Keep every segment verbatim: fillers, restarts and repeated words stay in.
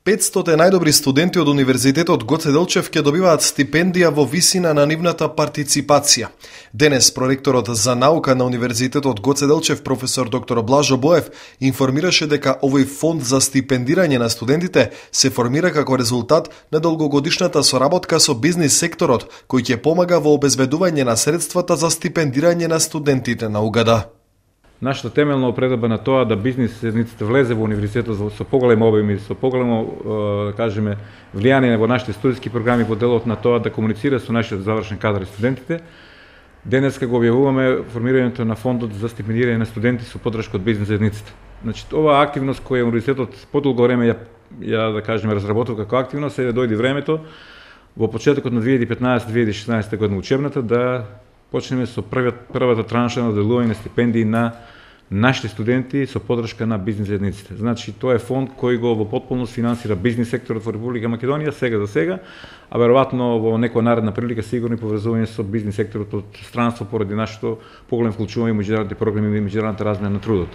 петстотини најдобри студенти од Универзитетот Гоце Делчев ќе добиваат стипендија во висина на нивната партиципација. Денес проректорот за наука на Универзитетот Гоце Делчев, професор доктор Блажо Боев, информираше дека овој фонд за стипендирање на студентите се формира како резултат на долгогодишната соработка со бизнис секторот, кој ќе помага во обезбедување на средствата за стипендирање на студентите на УГД. Нашата темелна опредба на тоа да бизнис единиците влезе во универзитетот со поголем обем и со поголемо, да кажеме, влијание во нашите студиски програми во делот на тоа да комуницира со нашиот завршен кадар и студентите. Денеска го објавуваме формирањето на фондот за стипендирање на студенти со поддршка од бизнис единиците. Значи, оваа активност која универзитетот подолго време ја, ја да кажеме разработува како активност, сега дојде времето во почетокот на две илјади и петнаесета - две илјади и шеснаесета година учебната да почнеме со првиот, првата транша на делување на стипендии на нашите студенти со поддршка на бизнис единиците. Значи, тоа е фонд кој го во потполност финансира бизнис секторот во Република Македонија сега за сега, а веројатно во некоја наредна прилика сигурно и поврзување со бизнис секторот од странство поради нашето поголем вклучување во меѓународните програми и меѓународната размена на трудот.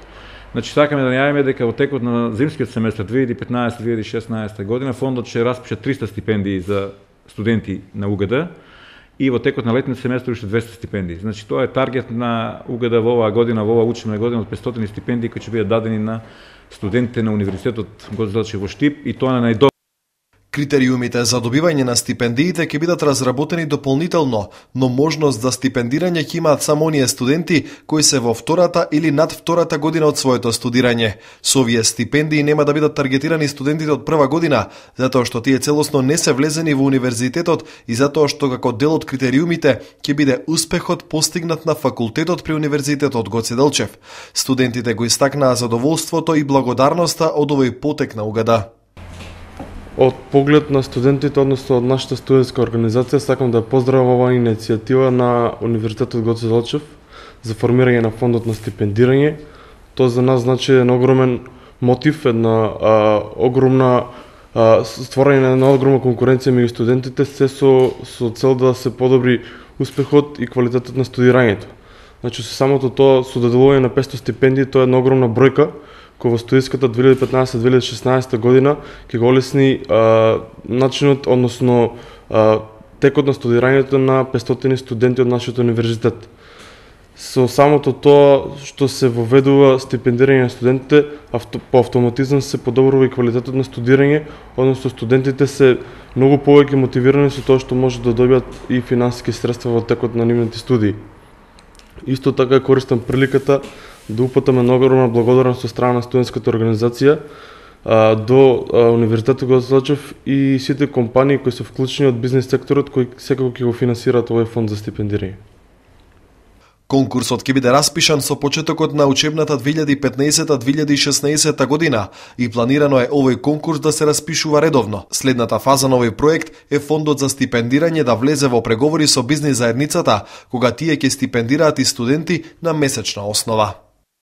Значи, сакаме да најавиме дека во текот на зимскиот семестар две илјади и петнаесета - две илјади и шеснаесета година фондот ќе распише триста стипендии за студенти на УГД и во текот на летниот семестар уште двесте стипендии. Значи, тоа е таргет на УГД во оваа година, во оваа учебна година од петстотини стипендии кои ќе бидат дадени на студентите на Универзитетот Гоце Делчев во Штип, и тоа на најдобар. Критериумите за добивање на стипендиите ќе бидат разработени дополнително, но можност за стипендирање ќе имаат само оние студенти кои се во втората или над втората година од своето студирање. Со овие стипендии нема да бидат таргетирани студентите од прва година, затоа што тие целосно не се влезени во универзитетот и затоа што како дел од критериумите ќе биде успехот постигнат на факултетот при Универзитетот Гоце Делчев. Студентите го истакнаа задоволството и благодарноста од овој потек на УГД. Од поглед на студентите, односно од нашата студентска организација, сакам да поздравам оваа иницијатива на Универзитетот Гоце Делчев за формирање на фондот на стипендирање. Тоа за нас значи еден огромен мотив, една а, огромна а, створање на една огромна конкуренција меѓу студентите, се со, со цел да се подобри успехот и квалитетот на студирањето. Значи, со самото тоа, со доделување на петстотини стипендии, тоа е една огромна бројка, кој во студиската две илјади и петнаесета - две илјади и шеснаесета година ќе го олесни а, начинот, односно а, текот на студирањето на петстотини студенти од нашиот универзитет. Со самото тоа што се воведува стипендирање на студентите, авто, по автоматизам се подобрува и квалитетот на студирање, односно студентите се многу повеќе мотивирани со тоа што може да добијат и финансиски средства во текот на нивните студии. Исто така користам приликата да упатам една огромна благодарност со страна на студентската организација а, до а, Универзитетот Гоце Делчев и сите компании кои се вклучени од бизнис секторот кои секако ќе го финансираат овој фонд за стипендирање. Конкурсот ќе биде распишан со почетокот на учебната две илјади и петнаесета - две илјади и шеснаесета година и планирано е овој конкурс да се распишува редовно. Следната фаза на овој проект е фондот за стипендирање да влезе во преговори со бизнис заедницата, кога тие ќе стипендираат и студенти на месечна основа.